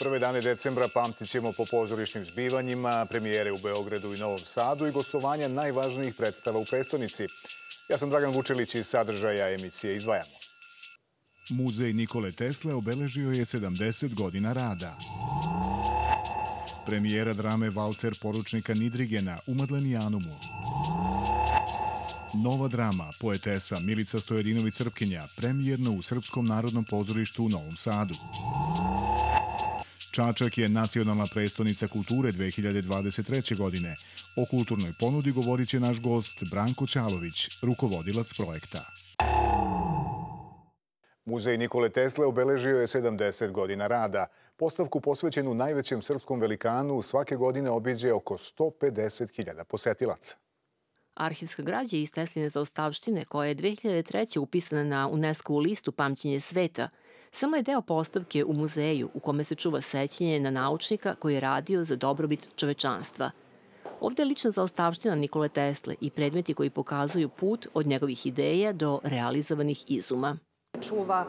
Prve dane decembra pamtit ćemo po pozorišnim zbivanjima, premijere u Beogradu i Novom Sadu i gostovanja najvažnijih predstava u prestonici. Ja sam Dragan Vučilić i sadržaja emisije izdvajamo. Muzej Nikole Tesle obeležio je 70 godina rada. Premijera drame Valcer poručnika Nidrigena u Madlenijanumu. Nova drama poetesa Milica Stojadinović-Crpkinja premijerno u Srpskom narodnom pozorištu u Novom Sadu. Čačak je nacionalna prestonica kulture 2023. godine. O kulturnoj ponudi govorit će naš gost Branko Ćalović, rukovodilac projekta. Muzej Nikole Tesle obeležio je 70 godina rada. Postavku posvećenu najvećem srpskom velikanu svake godine obiđe oko 150.000 posetilaca. Arhivska građa iz Tesline zaostavštine, koja je 2003. upisana na UNESCO listu Pamćenje sveta, samo je deo postavke u muzeju u kome se čuva sećanje na naučnika koji je radio za dobrobit čovečanstva. Ovde je lična zaostavština Nikole Tesle i predmeti koji pokazuju put od njegovih ideja do realizovanih izuma. Čuva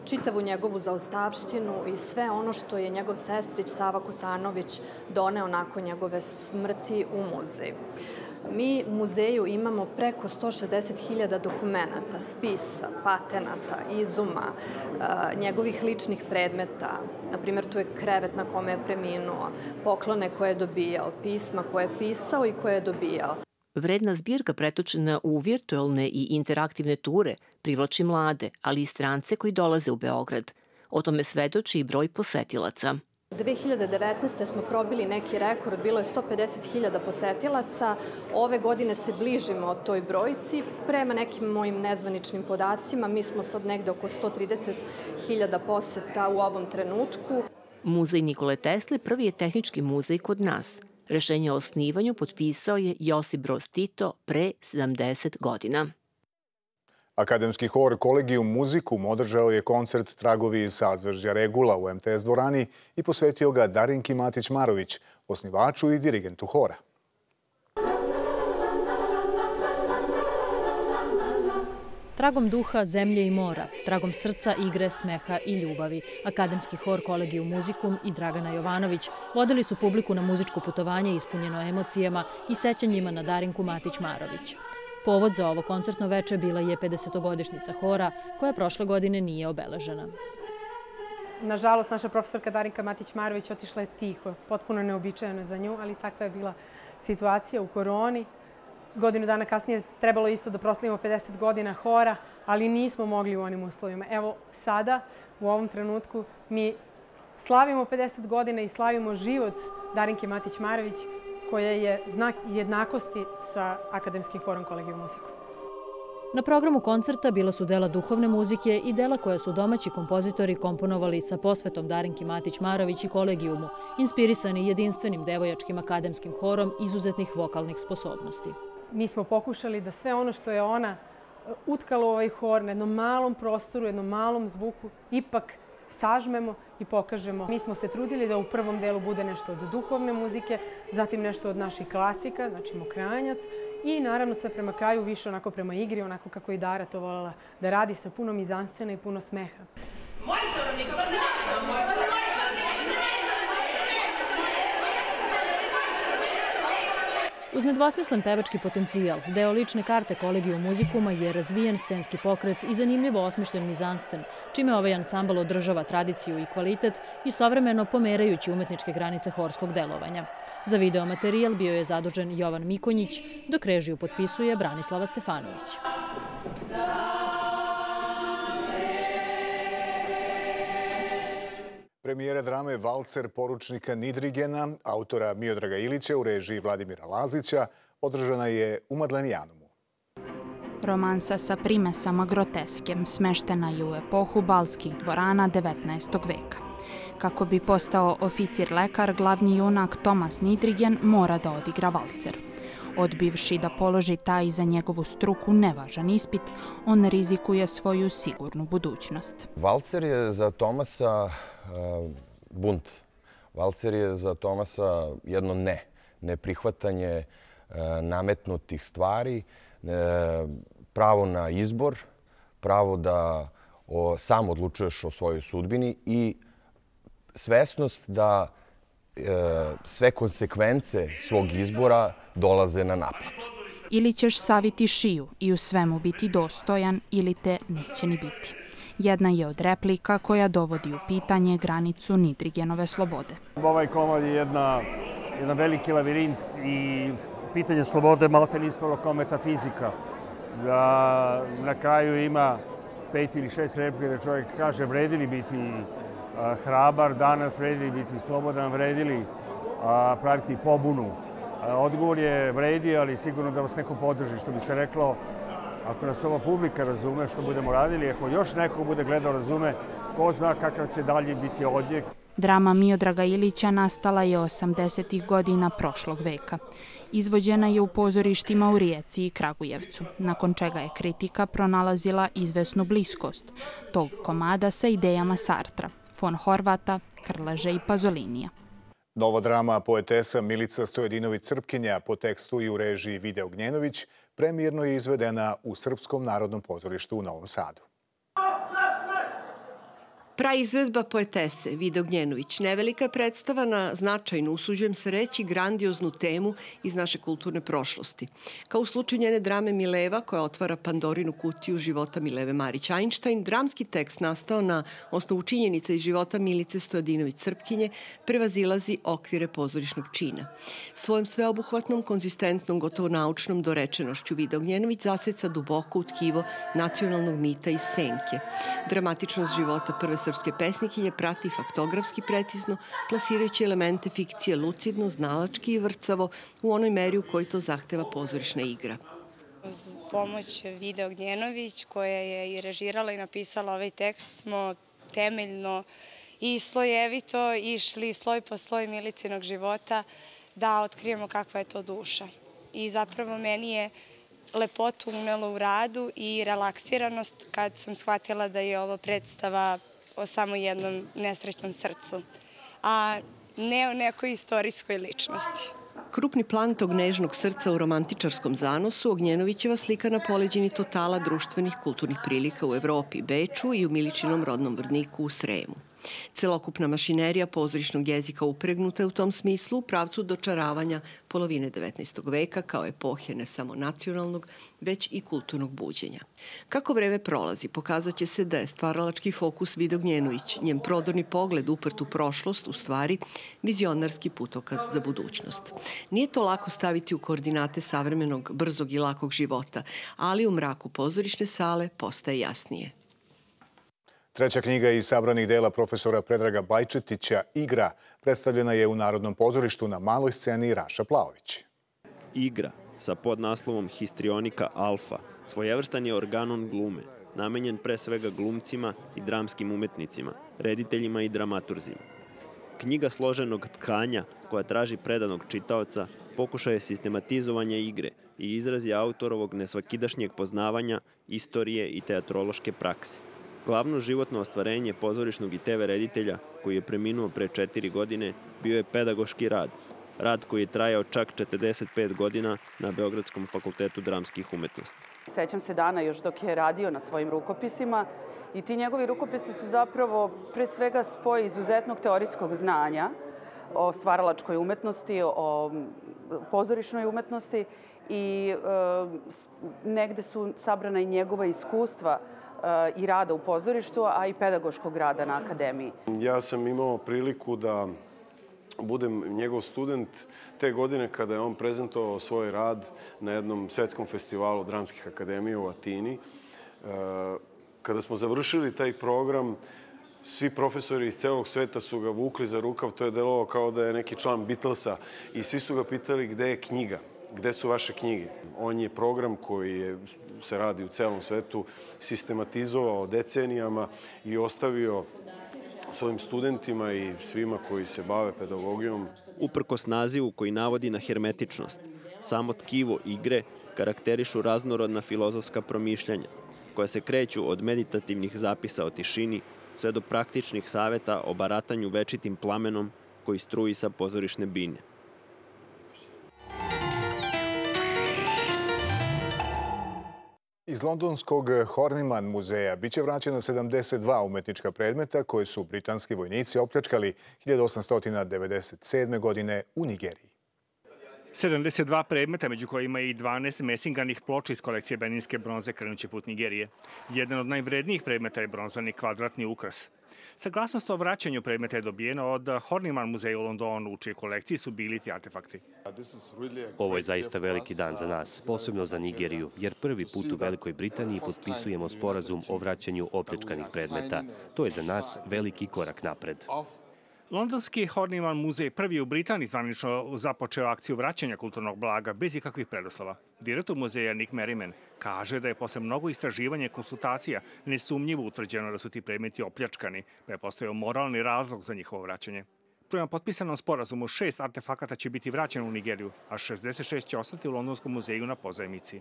čitavu njegovu zaostavštinu i sve ono što je njegov sestrić Sava Kosanović doneo nakon njegove smrti u muzej. Mi u muzeju imamo preko 160.000 dokumenata, spisa, patenata, izuma, njegovih ličnih predmeta. Naprimjer, tu je krevet na kome je preminuo, poklone koje je dobijao, pisma koje je pisao i koje je dobijao. Vredna zbirka pretočena u virtualne i interaktivne ture privlači mlade, ali i strance koji dolaze u Beograd. O tome svedoči i broj posetilaca. 2019. smo probili neki rekord, bilo je 150.000 posetilaca. Ove godine se bližimo toj brojci. Prema nekim mojim nezvaničnim podacima, mi smo sad negde oko 130.000 poseta u ovom trenutku. Muzej Nikole Tesle prvi je tehnički muzej kod nas. Rešenje o osnivanju potpisao je Josip Broz Tito pre 70 godina. Akademski hor Kolegijum Muzikum održao je koncert Tragovi iz sazvežđa Regula u MTS dvorani i posvetio ga Darinki Matić-Marović, osnivaču i dirigentu hora. Tragom duha, zemlje i mora, tragom srca, igre, smeha i ljubavi. Akademski hor Kolegijum Muzikum i Dragana Jovanović vodili su publiku na muzičko putovanje ispunjeno emocijama i sećanjima na Darinku Matić-Marović. Povod za ovo koncertno veče bila je 50-godišnjica hora, koja prošle godine nije obeležena. Nažalost, naša profesorka Darinka Matić-Marović otišla je tiho, potpuno neobičajeno za nju, ali takva je bila situacija u koroni. Godinu dana kasnije trebalo isto da proslavimo 50 godina hora, ali nismo mogli u onim uslovima. Evo sada, u ovom trenutku, mi slavimo 50 godina i slavimo život Darinke Matić-Marović, koja je znak jednakosti sa Akademskim horom Kolegijum Muzikum. Na programu koncerta bila su dela duhovne muzike i dela koja su domaći kompozitori komponovali sa posvetom Darinki Matić-Marović i Kolegijumu, inspirisani jedinstvenim devojačkim akademskim horom izuzetnih vokalnih sposobnosti. Mi smo pokušali da sve ono što je ona utkala u ovaj hor na jednom malom prostoru, jednom malom zvuku, ipak sažmemo i pokažemo. Mi smo se trudili da u prvom delu bude nešto od duhovne muzike, zatim nešto od naših klasika, znači Mokranjac, i naravno sve prema kraju više onako prema igri, onako kako i Dara to voljela da radi, sa puno mizanscena i puno smeha. Uz nedvosmislen pevački potencijal, deo lične karte Kolegijum Muzikuma je razvijen scenski pokret i zanimljivo osmišljen mizanscen, čime ovaj ansambl održava tradiciju i kvalitet, istovremeno pomerajući umetničke granice horskog delovanja. Za videomaterijal bio je zadužen Jovan Mikonjić, dok režiju potpisuje Branislava Stefanović. Premijera drame Valcer poručnika Nidrigena, autora Miodraga Ilića u režiji Vladimira Lazića, održana je u Madlenijanumu. Romansa sa primesama groteske smeštena je u epohu balskih dvorana 19. veka. Kako bi postao oficir lekar, glavni junak Tomas Nidrigen mora da odigra valcer. Odbivši da položi taj za njegovu struku nevažan ispit, on rizikuje svoju sigurnu budućnost. Valcer je za Tomasa bunt. Valcer je za Tomasa jedno neprihvatanje nametnutih stvari, pravo na izbor, pravo da sam odlučuješ o svojoj sudbini i svesnost da sve konsekvence svog izbora dolaze na naplatu. Ili ćeš saviti šiju i u svemu biti dostojan ili te neće ni biti. Jedna je od replika koja dovodi u pitanje granicu Nidrigenove slobode. Ovaj komad je jedan veliki lavirint i pitanje slobode malte ne ispalo kao metafizika. Da na kraju ima 5 ili 6 replika da čovjek kaže vredi li biti hrabar danas, vredi li biti slobodan, vredi li praviti pobunu. Odgovor je vredi, ali sigurno da vas neko podrži, što bi se reklo. Ako nas ova publika razume što budemo radili, ako još neko bude gledao razume, ko zna kakav će dalje biti odjek. Drama Miodraga Ilića nastala je 80. godina prošlog veka. Izvođena je u pozorištima u Rijeci i Kragujevcu, nakon čega je kritika pronalazila izvesnu bliskost tog komada sa idejama Sartra, von Horvata, Krleže i Pazolinija. Nova drama poetesa Milica Stojadinović-Crpkinja po tekstu i u režiji Vide Ognjenović premijerno je izvedena u Srpskom narodnom pozorištu u Novom Sadu. Praizvedba poetese Vide Ognjenović nevelika je predstava na značajnu, usuđujem se reći, grandioznu temu iz naše kulturne prošlosti. Kao u slučaju njene drame Mileva, koja otvara Pandorinu kutiju života Mileve Marić-Einstein, dramski tekst nastao na osnovu činjenica iz života Milice Stojadinović-Crpkinje prevazilazi okvire pozorišnog čina. Svojom sveobuhvatnom, konzistentnom, gotovo naučnom dorečenošću Vide Ognjenović zaseca duboko u tkivo nacionalnog mita iz senke. Dramatičnost života prve srpske pesnikinje prati faktografski precizno, plasirajući elemente fikcije lucidno, znalački i vrcavo u onoj meri u kojoj to zahteva pozorišna igra. Uz pomoć Vide Ognjenović, koja je i režirala i napisala ovaj tekst, smo temeljno i slojevito išli sloj po sloj Milicinog života da otkrijemo kakva je to duša. I zapravo meni je lepotu unelo u radu i relaksiranost kad sam shvatila da je ovo predstava o samo jednom nesrećnom srcu, a ne o nekoj istorijskoj ličnosti. Krupni plan tog nežnog srca u romantičarskom zanosu Ognjenovićeva slika na poleđini totala društvenih kulturnih prilika u Evropi, Beču i u Miličinom rodnom Vrniku u Sremu. Celokupna mašinerija pozorišnog jezika upregnuta je u tom smislu u pravcu dočaravanja polovine 19. veka kao epohe ne samo nacionalnog, već i kulturnog buđenja. Kako vreme prolazi, pokazat će se da je stvaralački fokus Vide Ognjenović, njen prodorni pogled uprt u prošlost, u stvari vizionarski putokaz za budućnost. Nije to lako staviti u koordinate savremenog, brzog i lakog života, ali u mraku pozorišne sale postaje jasnije. Treća knjiga iz sabranih dela profesora Predraga Bajčetića, Igra, predstavljena je u Narodnom pozorištu na maloj sceni Raša Plaović. Igra sa podnaslovom Histrionika alfa svojevrstan je organon glume, namenjen pre svega glumcima i dramskim umetnicima, rediteljima i dramaturzima. Knjiga složenog tkanja koja traži predanog čitaoca pokušaje sistematizovanja igre i izraz je autorovog nesvakidašnjeg poznavanja, istorije i teatrološke prakse. Glavno životno ostvarenje pozorišnog i TV reditelja, koji je preminuo pre 4 godine, bio je pedagoški rad. Rad koji je trajao čak 45 godina na Beogradskom fakultetu dramskih umetnosti. Sećam se dana još dok je radio na svojim rukopisima i ti njegovi rukopisi su zapravo pre svega spoj izuzetnog teorijskog znanja o stvaralačkoj umetnosti, o pozorišnoj umetnosti i negde su sabrana i njegova iskustva i rada u pozorištu, a i pedagoškog rada na akademiji. Ja sam imao priliku da budem njegov student te godine kada je on prezentovao svoj rad na jednom svetskom festivalu dramskih akademija u Atini. Kada smo završili taj program, svi profesori iz celog sveta su ga vukli za rukav, to je delovalo kao da je neki član Beatlesa i svi su ga pitali gde je knjiga, gde su vaše knjige. On je program koji se radi u celom svetu sistematizovao decenijama i ostavio svojim studentima i svima koji se bave pedagogijom. Uprkos nazivu koji navodi na hermetičnost, samo tkivo igre karakterišu raznorodna filozofska promišljanja, koja se kreću od meditativnih zapisa o tišini sve do praktičnih saveta o baratanju večitim plamenom koji struji sa pozorišne bine. Iz londonskog Horniman muzeja biće vraćeno 72 umetnička predmeta koje su britanski vojnici opljačkali 1897. godine u Nigeriji. 72 predmeta, među kojima i 12 mesinganih ploča iz kolekcije beninske bronze krenuće put Nigerije. Jedan od najvrednijih predmeta je bronzani kvadratni ukras. Saglasnost o vraćanju predmeta je dobijena od Horniman muzeja u Londonu, u čijoj kolekciji su bili ti artefakti. Ovo je zaista veliki dan za nas, posebno za Nigeriju, jer prvi put u Velikoj Britaniji potpisujemo sporazum o vraćanju opljačkanih predmeta. To je za nas veliki korak napred. Londonski Horniman muzej prvi u Britaniji zvanično započeo akciju vraćanja kulturnog blaga bez ikakvih preduslova. Direktor muzeja Nick Merriman kaže da je posle mnogo istraživanja i konsultacija nesumnjivo utvrđeno da su ti predmeti opljačkani, pa je postojao moralni razlog za njihovo vraćanje. Prema potpisanom sporazumu 6 artefakata će biti vraćeno u Nigeriju, a 66 će ostati u Londonskom muzeju na pozajmici.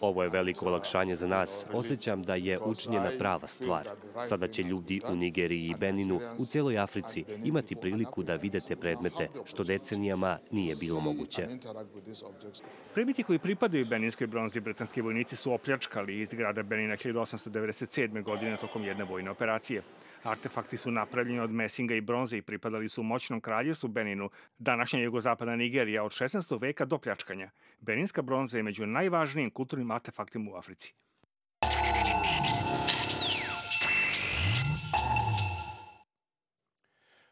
Ovo je veliko olakšanje za nas. Osjećam da je učinjena prava stvar. Sada će ljudi u Nigeriji i Beninu, u cijeloj Africi, imati priliku da vide te predmete, što decenijama nije bilo moguće. Predmeti koji pripadaju beninskoj bronzi britanski vojnici su opljačkali iz grada Benina 1897. godine tokom jedne vojne operacije. Artefakti su napravljeni od mesinga i bronze i pripadali su moćnom kraljevstvu Beninu, današnja jugozapadna Nigerija od 16. veka do pljačkanja. Beninska bronza je među najvažnijim kulturnim artefaktima u Africi.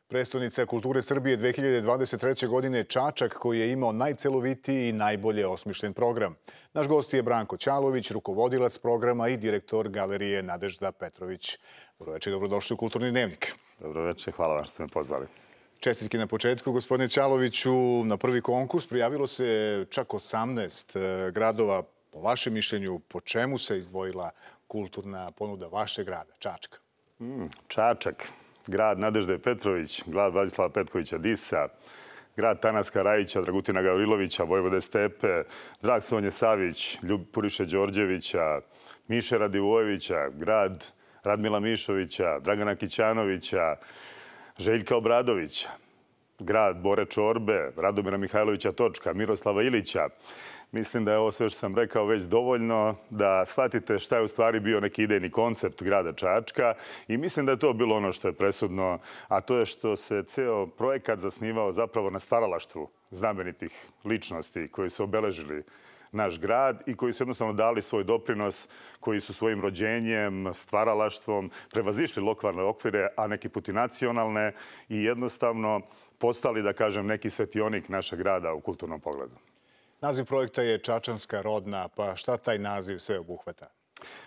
Prestonica kulture Srbije 2023. godine Čačak, koji je imao najcelovitiji i najbolje osmišljen program. Naš gost je Branko Ćalović, rukovodilac programa i direktor galerije Nadežda Petrović. Dobroveče, dobrodošli u Kulturni dnevnik. Dobroveče, hvala vam što ste me pozvali. Čestitke na početku, gospodine Ćaloviću. Na prvi konkurs prijavilo se čak 18 gradova. Po vašem mišljenju, po čemu se izdvojila kulturna ponuda vašeg grada, Čačka? Čačak, grad Nadežde Petrović, grad Vladislava Petkovića Disa, grad Tanaska Rajića, Dragutina Gavrilovića, Vojvode Stepe, Drag Sonje Savić, Puriše Đorđevića, Miše Radivojevića, grad Radmila Mišovića, Dragana Kićanovića, Željka Obradovića, grad Bore Čorbe, Radomira Mihajlovića Točka, Miroslava Ilića. Mislim da je ovo sve što sam rekao već dovoljno da shvatite šta je u stvari bio neki idejni koncept grada Čačka i mislim da je to bilo ono što je presudno, a to je što se ceo projekat zasnivao zapravo na stvaralaštvu znamenitih ličnosti koji su obeležili naš grad i koji su jednostavno dali svoj doprinos, koji su svojim rođenjem, stvaralaštvom prevazišli lokalne okvire, a neki put i nacionalne i jednostavno postali, da kažem, neki svetionik našeg grada u kulturnom pogledu. Naziv projekta je Čačanska rodna, pa šta taj naziv sve obuhvata?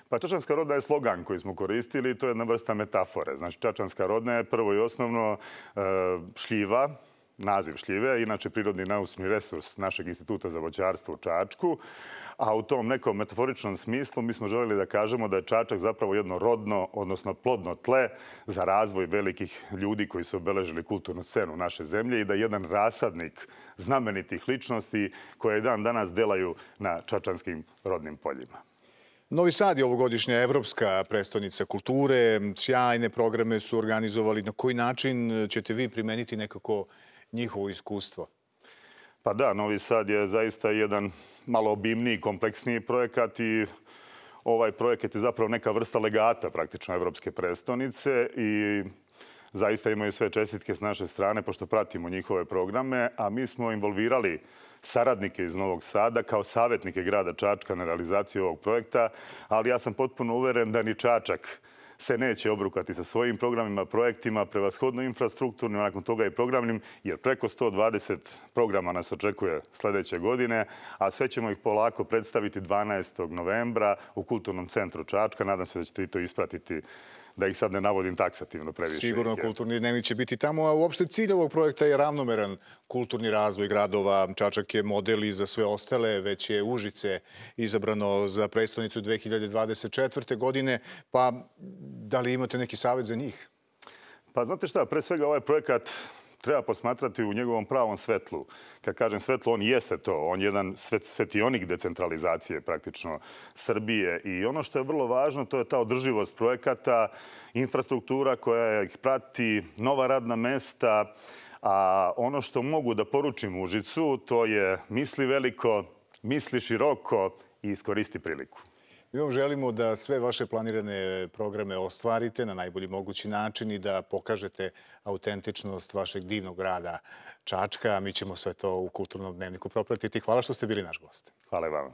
Pa Čačanska rodna je slogan koji smo koristili i to je jedna vrsta metafore. Znači, Čačanska rodna je prvo i osnovno šljiva, naziv šljive, inače prirodni naučni resurs našeg instituta za voćarstvo u Čačku, a u tom nekom metaforičnom smislu mi smo željeli da kažemo da je Čačak zapravo jedno rodno, odnosno plodno tle za razvoj velikih ljudi koji su obeležili kulturnu scenu naše zemlje i da je jedan rasadnik znamenitih ličnosti koje dan danas delaju na čačanskim rodnim poljima. Novi Sad je ovogodišnja evropska prestonica kulture. Sjajne programe su organizovali. Na koji način ćete vi primeniti nekako njihovo iskustvo? Pa da, Novi Sad je zaista jedan malo obimniji, kompleksniji projekat i ovaj projekat je zapravo neka vrsta legata praktično evropske prestonice i zaista imaju sve čestitke s naše strane pošto pratimo njihove programe, a mi smo involvirali saradnike iz Novog Sada kao savjetnike grada Čačka na realizaciju ovog projekta, ali ja sam potpuno uveren da ni Čačak se neće obrukati sa svojim programima, projektima, prevashodno infrastrukturnim, nakon toga i programnim, jer preko 120 programa nas očekuje sljedeće godine, a sve ćemo ih polako predstaviti 12. novembra u Kulturnom centru Čačka. Nadam se da ćete i to ispratiti, da ih sad ne navodim taksativno previše. Sigurno Kulturni dnevnik će biti tamo, a uopšte cilj ovog projekta je ravnomeran kulturni razvoj gradova. Čačak je model i za sve ostale, već je Užice izabrano za prestonicu 2024. godine, pa da li imate neki savjet za njih? Pa znate šta, pre svega ovaj projekat treba posmatrati u njegovom pravom svetlu. Kad kažem svetlo, on jeste to. On je jedan svetionik decentralizacije praktično Srbije. I ono što je vrlo važno, to je ta održivost projekata, infrastruktura koja ih prati, nova radna mesta. A ono što mogu da poručim Užicu, to je misli veliko, misli široko i iskoristi priliku. Mi vam želimo da sve vaše planirane programe ostvarite na najbolji mogući način i da pokažete autentičnost vašeg divnog grada Čačka. A mi ćemo sve to u Kulturnom dnevniku propratiti. Hvala što ste bili naš gost. Hvala i vama.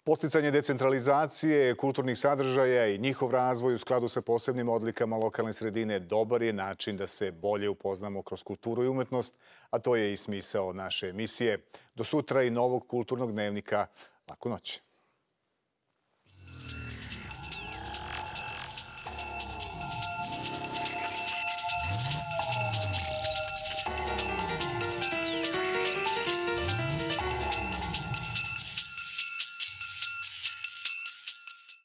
Podsticanje decentralizacije kulturnih sadržaja i njihov razvoj u skladu sa posebnim odlikama lokalne sredine dobar je način da se bolje upoznamo kroz kulturu i umetnost, a to je i smisao naše emisije. Do sutra i novog Kulturnog dnevnika. Laku noć.